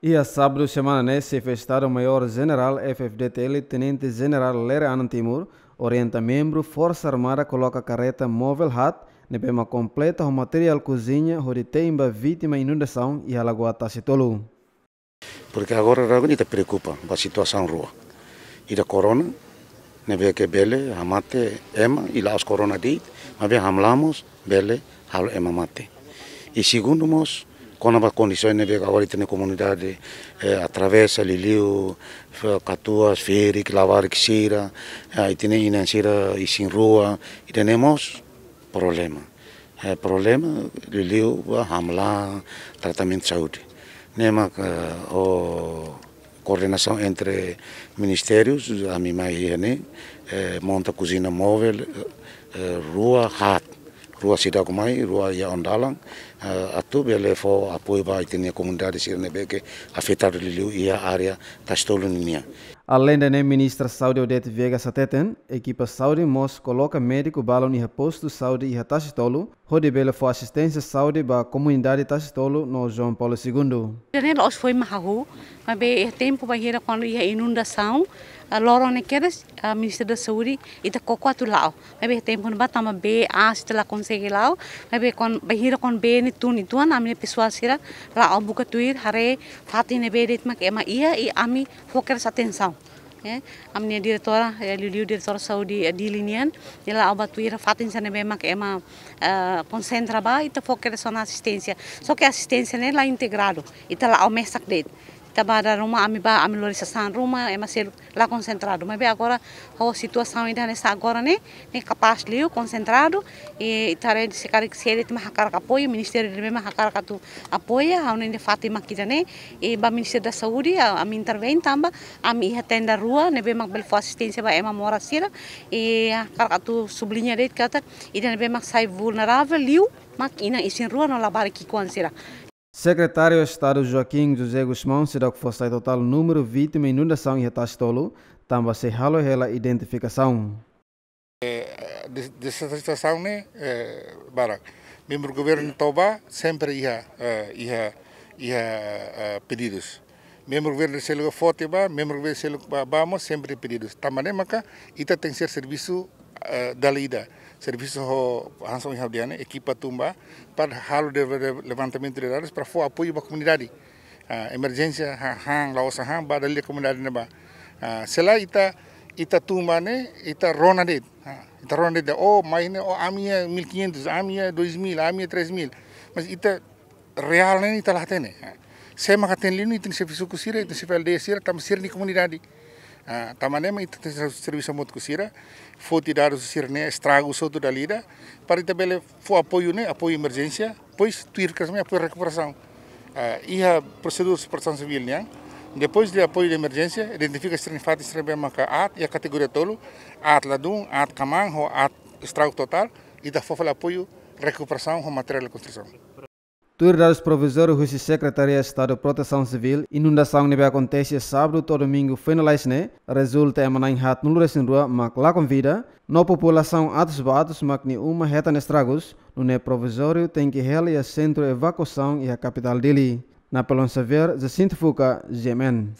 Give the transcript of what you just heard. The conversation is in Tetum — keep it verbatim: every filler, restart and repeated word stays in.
Iha sábadu semana ne'e, Xefe Estadu Maiór Jenerál F-FDTL, Tenente Jenerál Lere Anan Timur, orienta membru Forsa Armada koloka kareta móvel haat, ne'ebé mak kompleta ho materiál kuziña hodi te'in ba vítima inundasaun iha Lagoa Tasi Tolu. Porque agora ita preokupa ba situasaun rua. Ida korona, ne'ebé ke bele hamate ema, i la'ós korona de'it, maibé hamlaha mós bele halo ema mate. I segundu mós, kona-ba kondisaun ne'ebé ke agora ita-nia komunidade, eh, atravesa liuliu, fe-, katuas, ferik, labarik sira, eh, ita-nia inan sira isin-rua, ida-ne'e mós problema. Eh, problema liuliu ba hamlaha tratamentu saúde. Ne'e mak, eh, ho koordenasaun entre ministérius, ami mai iha ne'e, eh, monta kuziña móvel, eh, rua haat, rua seidauk mai, rua iha oin-dalan, eh, atu bele fó apoiu ba ita-nia komunidade sira ne'ebé ke afetadu liuliu iha área Tasi Tolu ninian. Aleinde ne'e, Ministra Saúde Odete Viegas hateten, ekipa saúde mós koloka médiku balun iha postu saúde iha Tasi Tolu, hodi bele fó asisténsia saúde ba komunidade Tasi Tolu no João Paulo Segundo. Ida-ne'e la'ós foin mak hahú, maibé iha tempu bainhira kuandu iha inundasaun, ah, loron ne'e kedas, ah, Ministériu da Saúde, ita koko atu la'o. Maibé iha tempu ne'ebá tanba bee, aas, ita la konsege la'o, maibé kuandu bainhira kuandu bee ne'e tun uitoan, ami-nia pesoál sira la'o buka tuir, haree fatin ne'ebé de'it mak ema iha, i ami fó kedas atensaun. Eh, ami-nia diretora, eh, liuliu diretora saúde, eh, Dili nian, nia la'o ba tuir fatin sira ne'ebé mak ema, eh, konsentra ba, ita fó kedas ona asisténsia. Só ke asisténsia ne'e la integradu, ita la'o mesak de'it. Ita ba dada ruma, ami ba, ami lori sasán ruma, ema seluk la konsentradu. Maibé agora, ho situasaun ida hanesan agora ne'e, ne'e kapás liu, konsentradu, i ita haree se karik sé de'it mak hakarak apoiu, ministériu ne'ebé mak hakarak atu apoia, ha'u hanoin dehan fatin mak ida-ne'e, i ba Ministériu da Saúde, a-, ami intervein tanba, ami iha tenda rua, ne'ebé mak bele fó asisténsia ba ema moras sira, i hakarak atu subliña de'it katak, ida ne'ebé mak sai vulneravel liu, mak inan isin-rua no labarik ki'ikoan sira. Sekretáriu Estadu Joaquim José Gusmão seidauk fó sai totál númeru vítima inundasaun iha Tasi Tolu, tanba sei halo hela identifikasaun. Eh, des-, dezastasaun ne'e, eh, barak. Membru governu to'o bá sempre iha, eh, iha, iha, eh, pedidus. Membru governu seluk foti bá, membru governu seluk bá, bá mós sempre pedidus. Tanba ne'e maka ita tenke ser servisu, eh, dala ida. Servisu ho hanesan ohin ha'u dehan ne'e, ekipa tun bá, para halo de, de, levantamentu de dadus, para fó apoiu ba komunidade. Ah, emerjénsia, ha-, han, la'ós han, ba dala ida komunidade ne'ebá. Ah, se lae ita, ita tun bá ne'e, ita rona de'it. Ah, ita rona de'it, oh, mai ne'e, oh, ami iha mil e quinhentos, ami iha dois mil, ami iha três mil. Mas ita reál ne'e ita la hatene. Ah, sé mak hatene liu ne'e, ita-nia xefe suku sira, ita-nia xefe aldeia sira, tanba sira-nia komunidade. Ah, tanba ne'e mak ita tenke servisu hamutuk ho sira, foti dadus sira-ne'e, estragu hotu dala ida, para ita bele fó apoiu ne'e, apoiu emerjénsia, depois tuir kedas mai apoiu rekuperasaun. Ah, iha prosedura Protesaun Sivíl nian, depois de apoiu de emerjénsia, identifika sira-nia fatin sira ne'ebé maka aat, iha kategoria tolu, aat ladún, aat kmaan, ho aat estragu totál, ita fó fali apoiu rekuperasaun ho materiál konstrusaun. Tuir dadus provizóriu husi Sekretaria Estadu Protesaun Sivíl, inundasaun ne'ebé akontese sábadu to'o domingu foin lalais ne'e, rezulta ema na'in haatnulu-resin-rua mak lakon vida, no populasaun atus ba atus mak nia uma hetan estragus, nune'e provizóriu tenke hela iha sentru evakuasaun iha kapitál Dili. Napoleon Xavier, Jacinto Fuca, G M N.